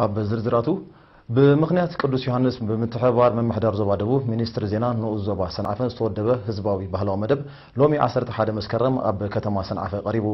ኣብ ዝርዝራቱ፣ ብምኽንያት ቅዱስ ዮሃንስ ብምትሕብባር ምምሕዳር ዞባ ደቡብ፣ ሚኒስትሪ ዜና ንኡስ ዞባ ሰንዓፈ ዝተወደበ ህዝባዊ ባህላዊ መደብ ሎሚ ዓሰርተ ሓደ መስከረም ኣብ ከተማ ሰንዓፈ ቀሪቡ።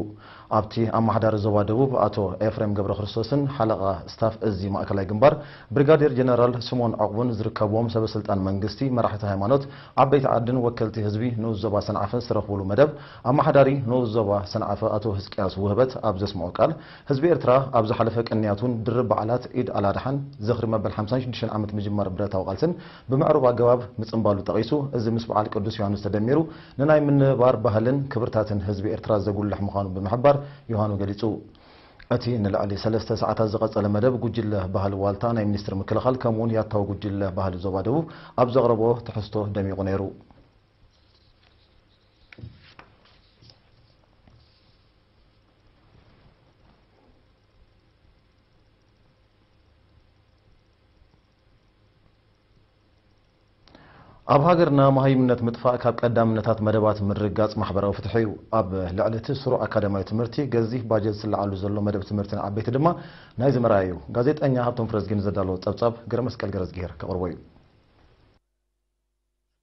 ኣብቲ ኣመሓዳሪ ዞባ ደቡብ ኣቶ ኤፍሬም ገብረክርስቶስን ሓለቓ ስታፍ እዚ ማእከላይ ግንባር ብሪጋዴር ጀነራል ስምኦን ዕቑቡን ዝርከብዎም ሰበስልጣን መንግስቲ፣ መራሕቲ ሃይማኖት፣ ዓበይቲ ዓድን ወከልቲ ህዝቢ ንኡስ ዞባ ሰንዓፈን ዝተረኽብሉ መደብ፣ ኣመሓዳሪ ንኡስ ዞባ ሰንዓፈ ኣቶ ህዝቅያስ ውህበት ኣብ ዘስምዖ ቃል፣ ህዝቢ ኤርትራ ኣብ ዝሓለፈ ቅንያቱን ድርብ በዓላት ኢድ ኣልኣድሓን ዝኽሪ መበል ሓምሳን ሽዱሽተን ዓመት ምጅማር ብረታዊ ቃልስን ብምዕሩግ ኣገባብ ምጽንባሉ ጠቒሱ፣ እዚ ምስ በዓል ቅዱስ ዮሃንስ ተደሚሩ ንናይ ምንብባር ባህልን ክብርታትን ህዝቢ ኤርትራ ዘጉልሕ ምዃኑ ብምሕባር፣ ዮሃኑ ገሊጹ። እቲ ንልዕሊ ሰለስተ ሰዓታት ዝቐጸለ መደብ፣ ጉጅለ ባህሊ ዋልታ ናይ ሚኒስትሪ ምክልኻል፣ ከምኡ'ውን ያታዊ ጉጅለ ባህሊ ዞባ ደቡብ ኣብ ዘቕረቦ ትሕዝቶ ደሚቑ ነይሩ። ኣብ ሃገርና፣ መሃይምነት ምጥፋእ ካብ ቀዳምነታት መደባት ምርግጋጽ ማሕበራዊ ፍትሒ እዩ። ኣብ ልዕሊ እቲ ስሩዕ ኣካዳሚያዊ ትምህርቲ፣ ገዚፍ ባጀት ዝለዓሉ ዘሎ መደብ ትምህርቲ ንዓበይቲ ድማ ናይዚ መርኣያ እዩ። ጋዜጠኛ ሃብቶም ፍረዝጊን ዘዳለዎ ጸብጻብ፣ ገረመስቀል ገረዝግሄር ከቕርቦ እዩ።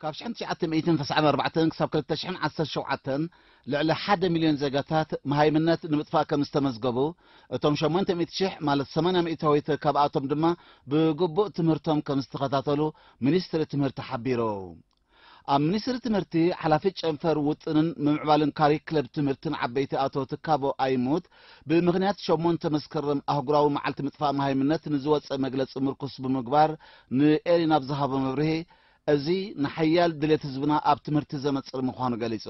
ካብ ሽሕን ትሽዓተ ሚእትን ተስዓን ኣርባዕተን ክሳብ ክልተ ሽሕን ዓሰርተ ሸውዓተን፣ ልዕሊ ሓደ ሚልዮን ዜጋታት መሃይምነት ንምጥፋእ ከም ዝተመዝገቡ፣ እቶም ሸሞንተ ሚእቲ ሽሕ፣ ማለት ሰማንያ ሚእታዊት ካብኣቶም ድማ ብግቡእ ትምህርቶም ከም ዝተኸታተሉ ሚኒስትሪ ትምህርቲ ሓቢሩ። ኣብ ሚኒስትሪ ትምህርቲ ሓላፊ ጨንፈር ውጥንን ምምዕባልን ካሪክለም ትምህርትን ዓበይቲ ኣቶ ትካቦ ኣይሙት፣ ብምኽንያት ሸሞንተ መስከረም ኣህጉራዊ መዓልቲ ምጥፋእ መሃይምነት ንዝወጸ መግለጺ ምርኩስ ብምግባር፣ ንኤሪና ብዝሃቦ መብርሂ፣ እዚ ንሓያል ድሌት ህዝብና ኣብ ትምህርቲ ዘነጽር ምዃኑ ገሊጹ።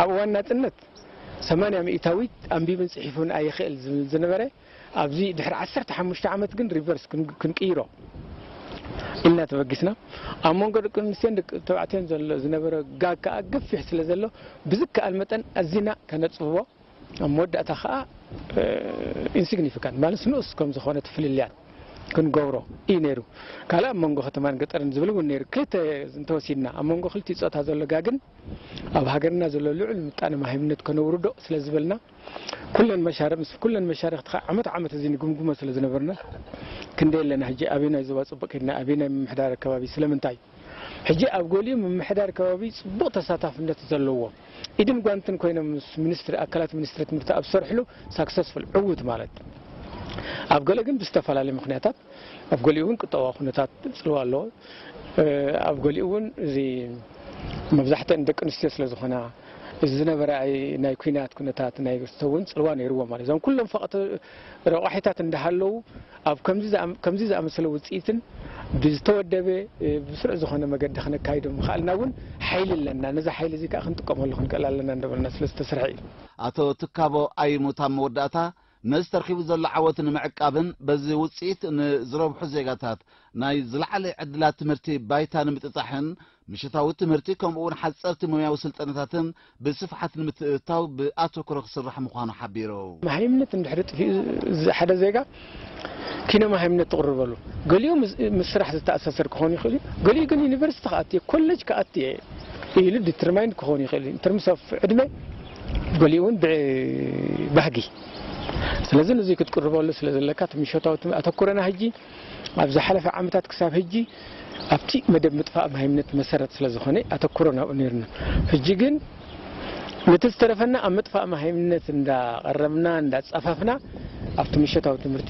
ኣብ እዋን ናጽነት ሰማንያ ሚእታዊት ኣንቢብን ጽሒፉን ኣይኽእል ዝብል ዝነበረ፣ ኣብዚ ድሕሪ ዓሰርተ ሓሙሽተ ዓመት ግን ሪቨርስ ክን-፣ ክንቅይሮ ኢልና ተበጊስና። ኣብ መንጎ ደቂ ኣንስትዮን ደቂ ተባዕትዮን ዘሎ ዝነበረ ጋግ ከኣ ገፊሕ ስለ ዘሎ፣ ብዝከኣል መጠን ኣዚና ከነጽብቦ፣ ኣብ መወዳእታ ከኣ፣ እ፣ ኢንሲግኒፊካንት ማለት ንኡስ ከም ዝኾነ ፍልልያት ክንገብሮ እዩ ነይሩ። ካልእ ኣብ መንጎ ከተማን ገጠርን ዝብል እውን ነይሩ። ክልተ እንተወሲድና፣ ኣብ መንጎ ክልቲኡ ጾታ ዘሎ ጋግን ኣብ ሃገርና ዘሎ ልዑል ምጣነ መሃይምነት ከነውርዶ ስለ ዝበልና፣ ኩለን መሻርኽ፣ ምስ ኩለን መሻርኽቲ ከዓ ዓመት ዓመት እዚ ንግምግሞ ስለ ዝነበርና፣ ክንደይ ኣለና ሕጂ፣ ኣበየናይ ዞባ ጽቡቕ ከድና፣ ኣበየናይ ምምሕዳር ከባቢ፣ ስለምንታይ? ሕጂ ኣብ ገሊኡ ምምሕዳር ከባቢ ጽቡቕ ተሳታፍነት ዘለዎ፣ ኢድን ጓንትን ኮይኖም ምስ ሚኒስትሪ፣ ኣካላት ሚኒስትሪ ትምህርቲ ኣብ ዝሰርሕሉ ሳክሰስፉል፣ ዕዉት ማለት። ኣብ ገለ ግን ብዝተፈላለዩ ምኽንያታት፣ ኣብ ገሊኡ እውን ቁጠባዊ ኩነታት ጽልዋ ኣለዎ። እ፣ ኣብ ገሊኡ እውን እዚ መብዛሕትአን ደቂ ኣንስትዮ ስለ ዝኾና፣ እዚ ዝነበረ ኣይ-፣ ናይ ኲናት ኩነታት ናይ ሰብ እውን ጽልዋ ነይርዎ ማለት። እዞም ኩሎም ፈቐቲ ረቋሒታት እንዳሃለዉ፣ ኣብ ከምዚ ዝኣም-፣ ከምዚ ዝኣመሰለ ውጽኢትን ብዝተወደበ፣ እ፣ ብስሩዕ ዝኾነ መገዲ ክነካይዶ ምኽኣልና እውን ሓይሊ ኣለና። ነዚ ሓይሊ እዚ ከኣ ክንጥቀመሉ ክንክእል ኣለና እንዳበልና ስለ ዝተሰርሐ እዩ። ኣቶ ትካቦ ኣይሙት ኣብ መወዳእታ፣ ነዚ ተረኺቡ ዘሎ ዓወት ንምዕቃብን በዚ ውጽኢት ንዝረብሑ ዜጋታት ናይ ዝለዓለ ዕድላት ትምህርቲ ባይታ ንምጥጣሕን፣ ምሸታዊ ትምህርቲ ከምኡ እውን ሓጸርቲ ሞያዊ ስልጠናታትን ብስፍሓት ንምትእትታው ብኣተኩሮ ክስራሕ ምዃኑ ሓቢሩ። መሃይምነት እንድሕሪ ጥፊኡ፣ እዚ ሓደ ዜጋ ኪነ መሃይምነት ትቕርበሉ፣ ገሊኡ ምስ፣ ምስ ስራሕ ዝተኣሳሰር ክኸውን ይኽእል እዩ፣ ገሊኡ ግን ዩኒቨርሲቲ ክኣቲ እየ፣ ኮሌጅ ክኣቲ እየ ኢሉ ዲተርማይንድ ክኸውን ይኽእል እዩ። ኢንተርምስ ኦፍ ዕድመ፣ ገሊኡ እውን ብባህጊ። ስለዚ ነዚ ክትቅርበሉ ስለ ዘለካ፣ እቲ ምሸታዊ ትም-፣ ኣተኩረና ሕጂ፣ ኣብ ዝሓለፈ ዓመታት ክሳብ ሕጂ ኣብቲ መደብ ምጥፋእ መሃይምነት መሰረት ስለ ዝኾነ ኣተኩሮ ናብኡ ነይርና። ሕጂ ግን ነቲ ዝተረፈና ኣብ ምጥፋእ መሃይምነት እንዳቐረብና፣ እንዳጻፈፍና፣ ኣብቲ ምሸታዊ ትምህርቲ፣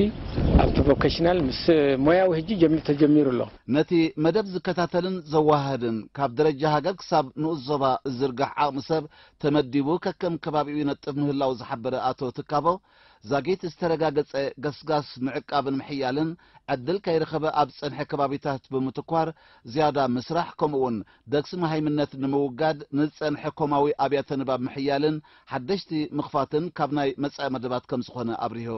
ኣብቲ ቮኬሽናል ምስ ሞያዊ ሕጂ ጀሚሩ፣ ተጀሚሩ ኣሎ። ነቲ መደብ ዝከታተልን ዘወሃህድን፣ ካብ ደረጃ ሃገር ክሳብ ንኡስ ዞባ ዝዝርጋሕ ዓቕሚ ሰብ ተመዲቡ፣ ከከም ከባቢኡ ይነጥፍ ምህላው ዝሓበረ ኣቶ ትካቦ፣ ዛጊት ዝተረጋገጸ ገስጋስ ምዕቃብን ምሕያልን፣ ዕድል ከይረኸበ ኣብ ዝጸንሐ ከባቢታት ብምትኳር ዝያዳ ምስራሕ፣ ከምኡ'ውን ደግሲ መሃይምነት ንምውጋድ ንዝጸንሐ ኮማዊ ኣብያተ ንባብ ምሕያልን ሓደሽቲ ምኽፋትን ካብ ናይ መጻኢ መደባት ከም ዝኾነ ኣብሪሁ።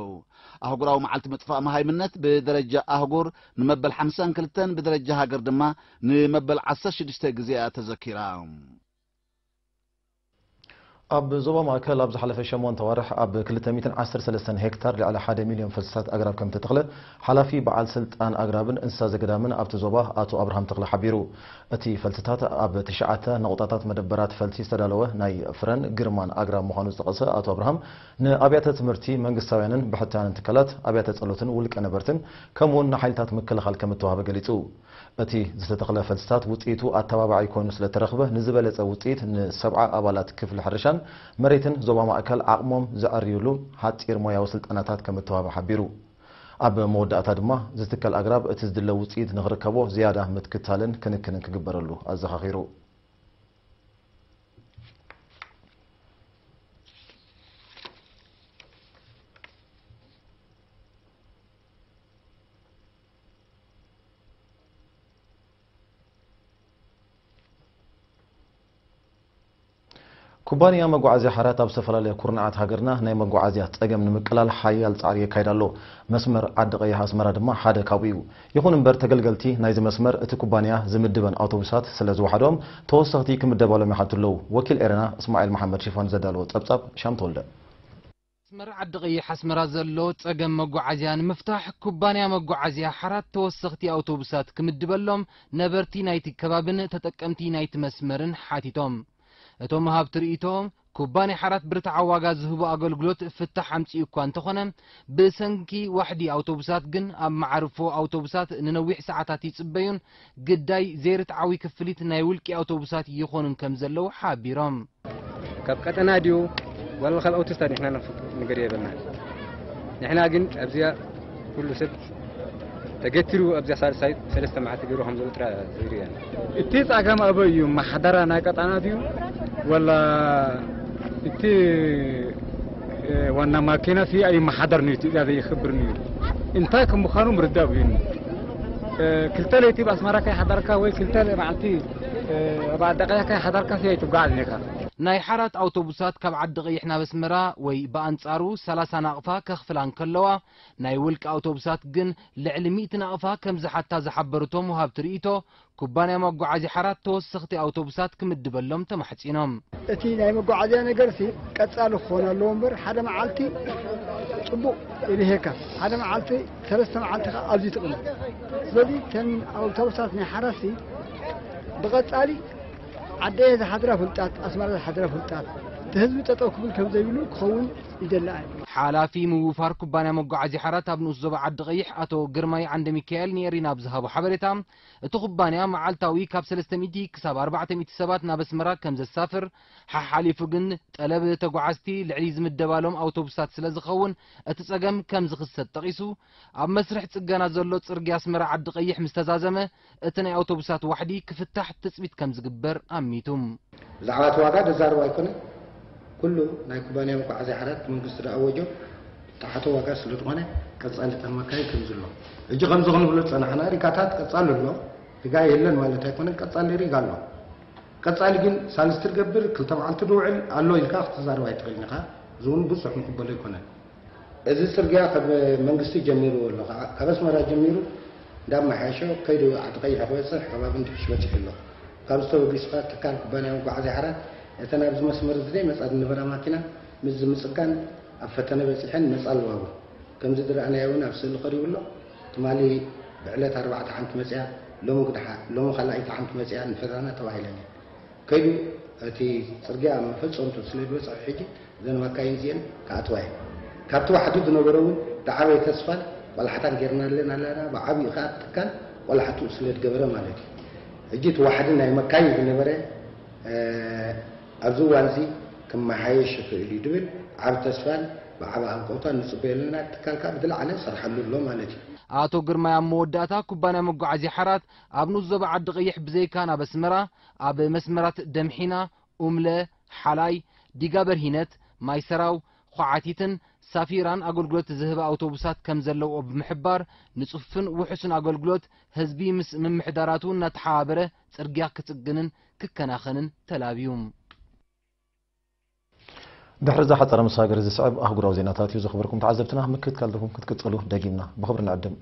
ኣህጉራዊ መዓልቲ ምጥፋእ መሃይምነት ብደረጃ ኣህጉር ንመበል ሓምሳን ክልተን፣ ብደረጃ ሃገር ድማ ንመበል ዓሰርተ ሽዱሽተ ግዜ እያ ተዘኪራ። ኣብ ዞባ ማእከል ኣብ ዝሓለፈ ሸሞንተ ኣዋርሕ ኣብ ክልተ ሚእትን ዓሰርተ ሰለስተን ሄክታር ልዕሊ ሓደ ሚልዮን ፈልስታት ኣግራብ ከም እተተኽለ ሓላፊ በዓል ስልጣን ኣግራብን እንስሳ ዘገዳምን ኣብቲ ዞባ ኣቶ ኣብርሃም ተኽለ ሓቢሩ። እቲ ፈልስታት ኣብ ትሽዓተ ነቑጣታት መደበራት ፈልሲ ዝተዳለወ ናይ ፍረን ግርማን ኣግራብ ምዃኑ ዝጠቐሰ ኣቶ ኣብርሃም፣ ንኣብያተ ትምህርቲ መንግስታውያንን ብሕታውያንን ትካላት፣ ኣብያተ ጸሎትን ውልቀ ነበርትን ከምኡውን ንሓይልታት ምክልኻል ከም እተዋህበ ገሊጹ። እቲ ዝተተኽለ ፈልስታት ውጽኢቱ ኣተባባዒ ኮይኑ ስለ እተረኽበ፣ ንዝበለጸ ውጽኢት ንሰብዓ ኣባላት ክፍሊ ሕርሻን መሬትን ዞባ ማእከል ዓቕሞም ዘዐርዩሉ ሓጺር ሞያዊ ስልጠናታት ከም እተዋህበ ሓቢሩ። ኣብ መወዳእታ ድማ፣ ዝትከል ኣግራብ እቲ ዝድለ ውጽኢት ንኽርከቦ ዝያዳ ምትክታልን ክንክንን ክግበረሉ ኣዘኻኺሩ። ኩባንያ መጓዓዝያ ሓራት ኣብ ዝተፈላለያ ኩርናዓት ሃገርና ናይ መጓዓዝያ ጸገም ንምቅላል ሓያል ጻዕሪ የካይድ ኣሎ። መስመር ዓዲ ቀይሕ ኣስመራ ድማ ሓደ ካብኡ እዩ። ይኹን እምበር፣ ተገልገልቲ ናይዚ መስመር እቲ ኩባንያ ዝምድበን ኣውቶቡሳት ስለ ዝወሓዶም፣ ተወሰኽቲ ክምደባሎም ይሓቱ ኣለዉ። ወኪል ኤረና እስማዒል መሓመድ ሽፋን ዘዳለዎ ጸብጻብ፣ ሻም ተወልደ። መስመር ዓዲ ቀይሕ ኣስመራ ዘሎ ጸገም መጓዓዝያ ንምፍታሕ፣ ኩባንያ መጓዓዝያ ሓራት ተወሰኽቲ ኣውቶቡሳት ክምድበሎም ነበርቲ ናይቲ ከባብን ተጠቀምቲ ናይቲ መስመርን ሓቲቶም። እቶም ሃብቲ ርእይቶ፣ ኩባንያ ሓራት ብርትዓዊ ዋጋ ዝህቦ ኣገልግሎት ፍታሕ ኣምጺኡ እኳ እንተኾነ፣ ብሰንኪ ዋሕዲ ኣውቶቡሳት ግን ኣብ መዓርፎ ኣውቶቡሳት ንነዊሕ ሰዓታት ይጽበዩን ግዳይ ዘይርትዓዊ ክፍሊት ናይ ውልቂ ኣውቶቡሳት ይኾኑን ከም ዘለዉ ሓቢሮም። ካብ ቀጠና ድዩ ዋላ ካብ ኣውቶስታድ ንሕና ንፈልጦ ነገር የብልና። ንሕና ግን ኣብዚኣ ኩሉ ሰብ ተገቲሩ ኣብዚኣ ሳልሳይ ሰለስተ መዓልቲ ገይሩ ከም ዘሎ ጥራ ዝርእየና። እቲ ጸገም ኣበይ እዩ? ማሕደራ ናይ ቀጠና ድዩ ዋላ እቲ፣ እ፣ ዋና ማኪና ሲ ኣይመሓደርን እዩ፣ ትእዛዝ የኽብርን እዩ። እንታይ ከም ምዃኑ ምርዳእ ብዩኒ። እ፣ ክልተ ለይቲ ብኣስመራ ከይሓደርካ ወይ ክልተ መዓልቲ፣ እ፣ ኣብ ዓዲ ቀይሕ ከይሓደርካ ሲ ኣይትጓዓዝን ኢኻ። ናይ ሓራት ኣውቶቡሳት ካብ ዓዲ ቀይሕ ናብ ኣስመራ ወይ ብኣንጻሩ ሰላሳ ናቕፋ ከኽፍላ እንከለዋ፣ ናይ ውልቂ ኣውቶቡሳት ግን ልዕሊ ሚእቲ ናቕፋ ከም ዝሓታ ዝሓበሩ እቶም ወሃብቲ ርእይቶ፣ ኩባንያ መጓዓዝያ ሓራት ተወሰኽቲ ኣውቶቡሳት ክምድበሎም ተማሕጺኖም። እቲ ናይ መጓዓዝያ ነገርሲ ቀጻሊ ክኾን ኣለዎ እምበር፣ ሓደ መዓልቲ ጽቡቕ ይብሄካ፣ ሓደ መዓልቲ፣ ሰለስተ መዓልቲ ከኣ ኣብዚ ትቕመጥ። ስለዚ እተን ኣውቶቡሳት ናይ ሓራሲ ብቐጻሊ ዓደየ ዝሓድራ ፍልጣት፣ ኣስመራ ዝሓድራ ፍልጣት፣ እቲ ህዝቢ ጠጠው ክብል ከም ዘይብሉ ክኸውን ይደሊ ኣየ። ሓላፊ ምውፋር ኩባንያ መጓዓዝያ ሓራት ኣብ ንኡስ ዞባ ዓዲ ቀይሕ ኣቶ ግርማይ ዓንደ ሚካኤል ንኤሪና ኣብ ዝሃቦ ሓበሬታ፣ እቲ ኩባንያ መዓልታዊ ካብ ሰለስተ ሚእቲ ክሳብ ኣርባዕተ ሚእቲ ሰባት ናብ ኣስመራ ከም ዘሳፍር፣ ሓሓሊፉ ግን ጠለብ ተጓዓዝቲ ልዕሊ ዝምደባሎም ኣውቶቡሳት ስለ ዝኸውን እቲ ጸገም ከም ዝኽሰት ጠቒሱ፣ ኣብ መስርሕ ጽገና ዘሎ ጽርግያ ኣስመራ ዓዲ ቀይሕ ምስ ተዛዘመ፣ እቲ ናይ ኣውቶቡሳት ዋሕዲ ክፍታሕ ትጽቢት ከም ዝግበር ኣሚቱ። ብዛዕባ እቲ ዋጋ ዘዛርብ ኣይኮነን። ኩሉ ናይ ኩባንያ መጓዓዝያ ሓራት መንግስቲ ዝኣወጆ ዝተሓተ ዋጋ ስለ ዝኾነ፣ ቀጻሊ እተን መካይን ከም ዝሎ። ሕጂ ከምዚ ክንብሎ ዝጸናሕና፣ ሪጋታት ቀጻሊ ኣሎ። ሪጋ የለን ማለት ኣይኮነን፣ ቀጻሊ ሪጋ ኣሎ። ቀጻሊ ግን ሳልስቲ ትገብር፣ ክልተ መዓልቲ ዝውዕል ኣሎ ኢልካ ክትዛረብ ኣይትኽእልን ኢኻ። እዚ እውን ብዙሕ ምቕበሎ ኣይኮነን። እዚ ጽርግያ ካብ መንግስቲ ጀሚርዎ ኣሎ። ካብ ኣስመራ ጀሚሩ እንዳመሓየሸ ከይዱ ዓዲ ቀይሕ ክበጽሕ ከባቢ እንድሕሽ በጺሑ ኣሎ። ካብዚ ተበጊስካ ትካል ኩባንያ መጓዓዝያ ሓራት እተን ኣብዚ መስመር እዚ ዘይመጻ ዝነበራ ማኪና ምስ ዝምጽጋን ኣብ ፈተነ በጺሐን መጻ ኣለዋ። ከምዚ ዝረኣናዮ እውን ኣብ ስእሊ ቀሪቡ ኣሎ። ትማሊ ብዕለት ኣርባዕተ ሓንቲ መጽያ፣ ሎሚ ግድሓ፣ ሎሚ ካልኣይቲ ሓንቲ መጽያ ንፈተና ተባሂለን እየን። ከይዱ እቲ ጽርግያ መፈጸምቱ ስለ ዝበጽሐ ሕጂ እዘን መካይን እዚአን ክኣትዋ እየን። ካብቲ ዋሕዲ ዝነበረ እውን ዝዓበየ ተስፋን ቆላሕታን ጌርናለን ኣለና። ብዓብዩ ከኣ ትካል ቆላሕትኡ ስለ ዝገበረ ማለት እዩ። ሕጂ እቲ ዋሕዲ ናይ መካይን ዝነበረ፣ እ፣ ኣብዚ እዋን እዚ ክመሓየሽ ይኽእል እዩ ዝብል ዓቢ ተስፋን ብዓቢ ኣንቀውታን ንጽበዮ ኣለና። ትካል ከኣ ብዝለዓለ ሰርሓሉ ኣሎ ማለት እዩ። ኣቶ ግርማይ ኣብ መወዳእታ፣ ኩባንያ መጓዓዝያ ሓራት ኣብ ንኡስ ዞባ ዓዲ ቀይሕ ብዘይካ ናብ ኣስመራ፣ ኣብ መስመራት ደምሒና፣ ኡምለ፣ ሓላይ፣ ዲጋ በርሂነት፣ ማይ ሰራው፣ ኳዓቲትን ሳፊራን ኣገልግሎት ዝህባ ኣውቶቡሳት ከም ዘለውኦ ብምሕባር፣ ንጽፉፍን ውሑስን ኣገልግሎት ህዝቢ ምስ ምምሕዳራቱ እናተሓባበረ ጽርግያ ክጽግንን ክከናኸንን ተላብዩ። ድሕሪ እዛ ሓጻረ መሰጋገሪ ዝስዕብ ኣህጉራዊ ዜናታት እዩ። ዝኸበርኩም ተዓዘብትና፣ ምክትታልኩም ክትቅጽሉ ደጊምና ብኽብሪ ንዕድም።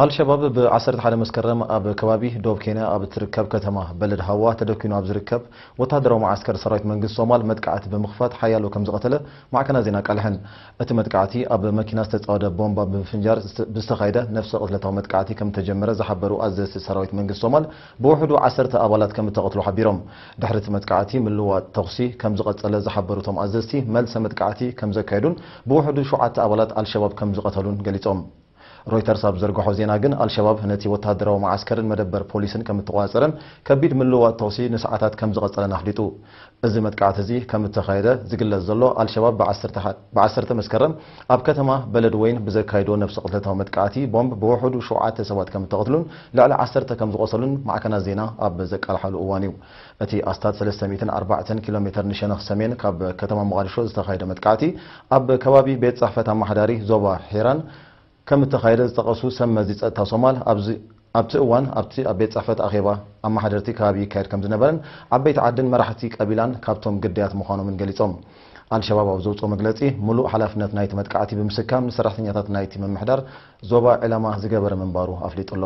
ኣልሸባብ ብ ዓሰርተ ሓደ መስከረም ኣብ ከባቢ ዶብ ኬንያ ኣብ እትርከብ ከተማ በለድ ሃዋ ተደኪኑ ኣብ ዝርከብ ወታደራዊ መዓስከር ሰራዊት መንግስቲ ሶማል መጥቃዕቲ ብምኽፋት ሓያሎ ከም ዝቐተለ ማዕከናት ዜና ኣቃልሐን። እቲ መጥቃዕቲ ኣብ መኪና ዝተጻወደ ቦምባ ብምፍንጃር ዝተ-፣ ብዝተኻየደ ነፍሰ ቅትለታዊ መጥቃዕቲ ከም እተጀመረ ዝሓበሩ ኣዘዝቲ ሰራዊት መንግስቲ ሶማል፣ ብውሕዱ ዓሰርተ ኣባላት ከም እተቐትሉ ሓቢሮም። ድሕሪ እቲ መጥቃዕቲ ምልውዋጥ ተኹሲ ከም ዝቐጸለ ዝሓበሩ እቶም ኣዘዝቲ፣ መልሰ መጥቃዕቲ ከም ዘካየዱን ብውሕዱ ሸውዓተ ኣባላት ኣልሸባብ ከም ዝቐተሉን ገሊጾም። ሮይተርስ ኣብ ዘርግሖ ዜና ግን፣ ኣልሸባብ ነቲ ወተሃደራዊ መዓስከርን መደበር ፖሊስን ከም እተቖጻጸረን ከቢድ ምልውዋጥ ተኹሲ ንሰዓታት ከም ዝቐጸለን ኣፍሊጡ። እዚ መጥቃዕቲ እዚ ከም እተኻየደ ዝግለጽ ዘሎ፣ ኣልሸባብ ብዓሰርተ፣ ብዓሰርተ መስከረም ኣብ ከተማ በለድ ወይን ብዘካየዶ ነፍሰ ቅትለታዊ መጥቃዕቲ ቦምብ ብውሕዱ ሸውዓተ ሰባት ከም እተቐትሉን ልዕሊ ዓሰርተ ከም ዝቖሰሉን ማዕከናት ዜና ኣብ ዘቃልሓሉ እዋን እዩ። እቲ ኣስታት ሰለስተ ሚእትን ኣርባዕተን ኪሎ ሜተር ንሸነኽ ሰሜን ካብ ከተማ ሞቓዲሾ ዝተኻየደ መጥቃዕቲ፣ ኣብ ከባቢ ቤት ጽሕፈት ኣመሓዳሪ ዞባ ሒራን ከም እተኻየደ ዝጠቐሱ ሰብ መዚ ጸጥታ ሶማል፣ ኣብዚ፣ ኣብቲ እዋን ኣብቲ ኣብ ቤት ጽሕፈት ኣኼባ ኣመሓደርቲ ከባቢ ይካየድ ከም ዝነበረን ዓበይቲ ዓድን መራሕቲ ቀቢላን ካብቶም ግዳያት ምዃኖምን ገሊጾም። ኣልሸባብ ኣብ ዘውጽኦ መግለጺ፣ ምሉእ ሓላፍነት ናይቲ መጥቃዕቲ ብምስካም ንሰራሕተኛታት ናይቲ ምምሕዳር ዞባ ዕላማ ዝገበረ ምንባሩ ኣፍሊጡ ኣሎ።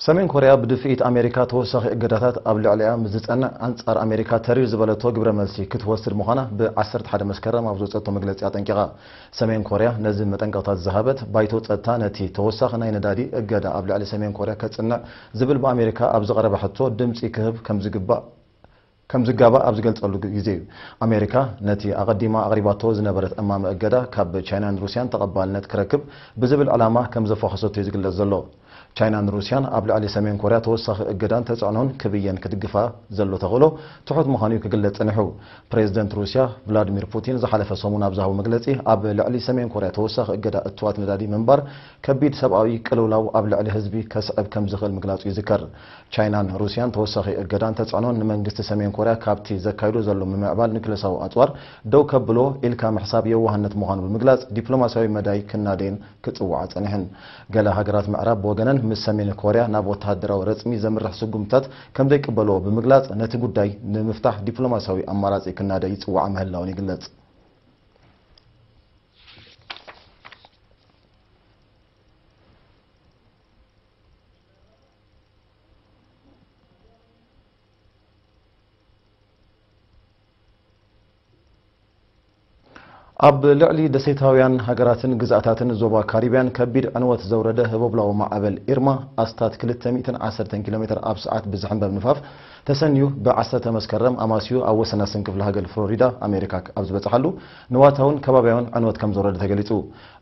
ሰሜን ኮርያ ብድፍኢት ኣሜሪካ ተወሳኺ እገዳታት ኣብ ልዕሊኣ ምስ ዝጸንዕ፣ ኣንጻር ኣሜሪካ ተሪር ዝበለቶ ግብረ መልሲ ክትወስድ ምዃና ብ ዓሰርተ ሓደ መስከረም ኣብ ዘውጸቶ መግለጺ ኣጠንቂቓ። ሰሜን ኮርያ ነዚ መጠንቀቕታት ዝሃበት፣ ባይቶ ጸጥታ ነቲ ተወሳኺ ናይ ነዳዲ እገዳ ኣብ ልዕሊ ሰሜን ኮርያ ከጽንዕ ዝብል ብኣሜሪካ ኣብ ዝቐረበ ሕቶ ድምጺ ክህብ ከም ዝግባእ ከም ዝጋባእ ኣብ ዝገልጸሉ ግዜ እዩ። ኣሜሪካ ነቲ ኣቐዲማ ኣቕሪባቶ ዝነበረት እማመ እገዳ ካብ ቻይናን ሩስያን ተቐባልነት ክረክብ ብዝብል ዕላማ ከም ዘፋኸሰቶ እዩ ዝግለጽ ዘሎ። ቻይናን ሩስያን ኣብ ልዕሊ ሰሜን ኮርያ ተወሳኺ እገዳን ተጽዕኖን ክብየን ክትግፋ ዘሎ ተኽእሎ ትሑት ምዃኑ እዩ ክግለጽ ጸኒሑ። ፕሬዚደንት ሩስያ ቭላድሚር ፑቲን ዝሓለፈ ሰሙን ኣብ ዝሃቦ መግለጺ፣ ኣብ ልዕሊ ሰሜን ኮርያ ተወሳኺ እገዳ እትዋት ነዳዲ ምንባር ከቢድ ሰብኣዊ ቅልውላው ኣብ ልዕሊ ህዝቢ ከስዕብ ከም ዝኽእል ምግላጹ ይዝከር። ቻይናን ሩስያን ተወሳኺ እገዳን ተጽዕኖን ንመንግስቲ ሰሜን ኮርያ ካብቲ ዘካይዶ ዘሎ ምምዕባል ኒውክለሳዊ ኣጽዋር ደው ከብሎ ኢልካ ምሕሳብ የዋህነት ምዃኑ ብምግላጽ፣ ዲፕሎማስያዊ መዳይ ክናደይን ክጽውዓ ጸኒሐን። ገለ ሃገራት ምዕራብ ብወገነን ምስ ሰሜን ኮርያ ናብ ወተሃደራዊ ረጽሚ ዘምርሕ ስጉምትታት ከም ዘይቅበልኦ ብምግላጽ፣ ነቲ ጉዳይ ንምፍታሕ ዲፕሎማስያዊ ኣማራጺ ክናደይ ይጽውዓ ምህላውን ይግለጽ። ኣብ ልዕሊ ደሴታውያን ሃገራትን ግዝኣታትን ዞባ ካሪብያን ከቢድ ዕንወት ዘውረደ ህቦብላዊ ማዕበል ኢርማ፣ ኣስታት ክልተ ሚእትን ዓሰርተን ኪሎ ሜትር ኣብ ሰዓት ብዝሕንበብ ንፋስ ተሰንዩ፣ ብ ዓሰርተ መስከረም ኣማስዩ ኣብ ወሰናስን ክፍለ ሃገር ፍሎሪዳ ኣሜሪካ ኣብ ዝበጽሓሉ፣ ንዋታውን ከባብያውን ዕንወት ከም ዘውረደ ተገሊጹ።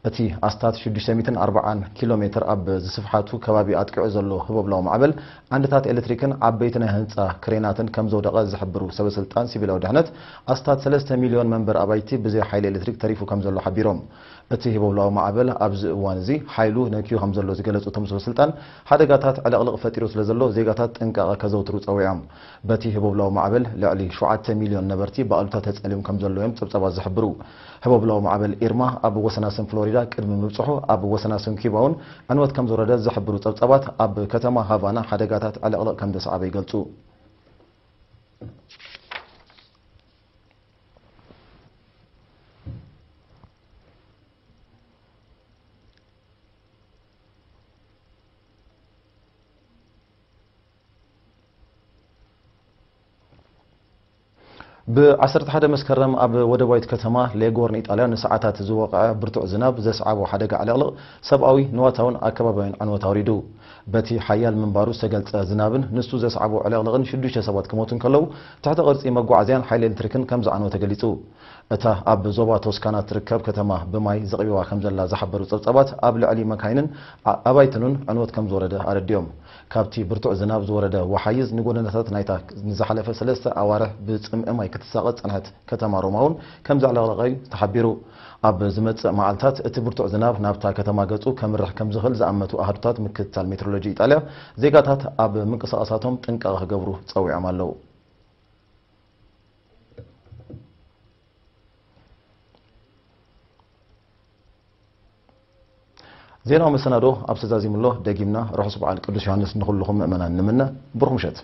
እቲ ኣስታት ሽዱሽተ ሚእትን ኣርባዓን ኪሎ ሜትር ኣብ ዝስፍሓቱ ከባቢ ኣጥቂዑ ዘሎ ህቦብላዊ ማዕበል፣ ዓንድታት ኤሌክትሪክን ዓበይቲ ናይ ህንጻ ክሬናትን ከም ዘውደቐ ዝሕብሩ ሰበስልጣን ሲቪላዊ ድሕነት፣ ኣስታት ሰለስተ ሚልዮን መንበሪ ኣባይቲ ብዘይ ሓይሊ ኤሌክትሪክ ተሪፉ ከም ዘሎ ሓቢሮም። እቲ ህቦብላዊ ማዕበል ኣብዚ እዋን እዚ ሓይሉ ነክዩ ከም ዘሎ ዝገለጹ እቶም ሰበስልጣን፣ ሓደጋታት ዕልቕልቕ ፈጢሩ ስለ ዘሎ ዜጋታት ጥንቃቐ ከዘውትሩ ጸዊዖም። በቲ ህቦብላዊ ማዕበል ልዕሊ ሸውዓተ ሚልዮን ነበርቲ ብኣሉታ ተጸልዮም ከም ዘለዉ እዮም ጸብጻባት ዝሕብሩ። ህቦብላዊ ማዕበል ኢርማ ኣብ ወሰናስን ፍሎሪዳ ቅድሚ ምብጽሑ፣ ኣብ ወሰናስን ኪባ እውን ዕንወት ከም ዝወረደ ዝሕብሩ ጸብጻባት፣ ኣብ ከተማ ሃቫና ሓደጋታት ዕልቕልቕ ከም ዘስዓበ ይገልጹ። ብ ዓሰርተ ሓደ መስከረም ኣብ ወደባዊት ከተማ ሌጎር ንኢጣልያ ንሰዓታት ዝወቕዐ ብርቱዕ ዝናብ ዘስዓቦ ሓደጋ ዕልቕልቕ ሰብኣዊ፣ ንዋታውን ኣከባብያውን ዕንወት ኣውሪዱ። በቲ ሓያል ምንባሩ ዝተገልጸ ዝናብን ንሱ ዘስዓቦ ዕልቕልቕን ሽዱሽተ ሰባት ክሞቱ እንከለዉ፣ ትሕተ ቅርጺ መጓዓዝያን ሓይሊ ኤሌክትሪክን ከም ዝዓነወ ተገሊጹ። እታ ኣብ ዞባ ቶስካና እትርከብ ከተማ ብማይ ዘቕቢባ ከም ዘላ ዝሓበሩ ጸብጻባት፣ ኣብ ልዕሊ መካይንን ኣ-፣ ኣባይትንን ዕንወት ከም ዝወረደ ኣረዲኦም። ካብቲ ብርቱዕ ዝናብ ዝወረደ ወሓይዝ ንጎደናታት ናይታ ንዝሓለፈ ሰለስተ ኣዋርሕ ብጽምኢ ማይ ክትሳቐ ዝጸንሐት ከተማ ሮማ እውን ከም ዘዕለቕለቐ እዩ ተሓቢሩ። ኣብ ዝመጽእ መዓልታት እቲ ብርቱዕ ዝናብ ናብታ ከተማ ገጹ ከምርሕ ከም ዝኽእል ዝኣመቱ ኣሃዱታት ምክትታል ሜትሮሎጂ ኢጣልያ፣ ዜጋታት ኣብ ምንቅስቓሳቶም ጥንቃቐ ክገብሩ ጸዊዖም ኣለዉ። ዜናዊ መሰናዶ ኣብ ተዛዚሙ ኣሎ። ደጊምና ርሑስ በዓል ቅዱስ ዮሃንስ ንኹልኹም ምእመናን ንምነ። ብሩኽ ምሸት።